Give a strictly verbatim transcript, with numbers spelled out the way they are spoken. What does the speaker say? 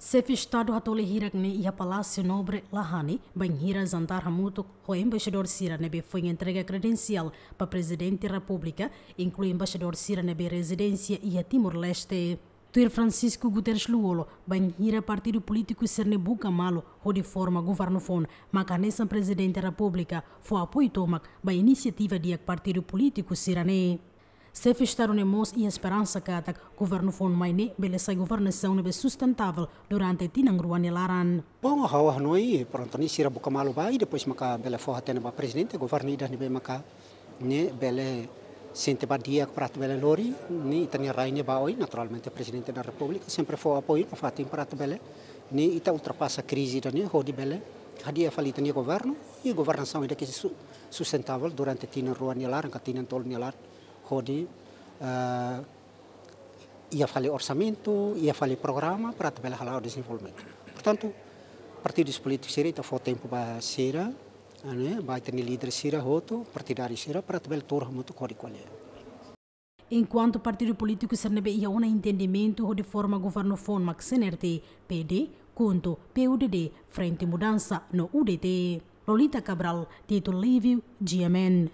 Xefe Estadu hato'o lia hirak ne'e iha Palásiu Nobre, Lahane, bainhira jantar hamutuk ho embaixadór sira ne'ebé foin entrega kredensiál ba Prezidente Repúblika, inklui embaixadór sira ne'ebé rezidénsia iha Timor-Leste. Tuir Francisco Guterres Lú-Olo, bainhira partidu polítiku sira-ne'e buka malu hodi forma governu foun, maka hanesan Prezidente Repúblika fó apoiu tomak ba inisiativa di'ak partidu polítiku sira-ne'e. Xefe Estadu ne'e mós iha esperansa katak governu foun mai ne'e bele sai governasaun ne'ebé sustentável durante tinan rua nia laran. Bom, ha'u hanoin, pronto, ne'e sira buka malu ba, i depois maka bele fó hatene ba Prezidente, governu ida ne'ebé maka ne'e bele sente ba di'ak para atu bele lori, ne'e ita-nia rai ne'e ba oin, naturalmente Prezidente da Repúblika sempre fó apoiu nafatin para atu bele, ne'e ita ultrapasa krize ida-ne'e hodi bele hadi'a fali ita-nia governu, i governasaun ida ke su-, sustentável durante tinan rua nia laran, ka tinan tolu nia laran, hodi, eh, iha fali orsamentu, iha fali programa para atu bele hala'o dezenvolvimentu. Portantu, partidus polítikus sira, ita fó tempu ba sira, ne'e, ba ita-nia líder sira hotu, partidáriu sira, para atu bele tuur hamutuk hodi ko'alia. Enkuantu partidu polítiku sira ne'ebé iha ona entendimentu hodi forma governu foun mak C N R T, P D, KHUNTO, P U D D, Frente Mudansa no U D T. Lolita Cabral, Tito Livio, G M N.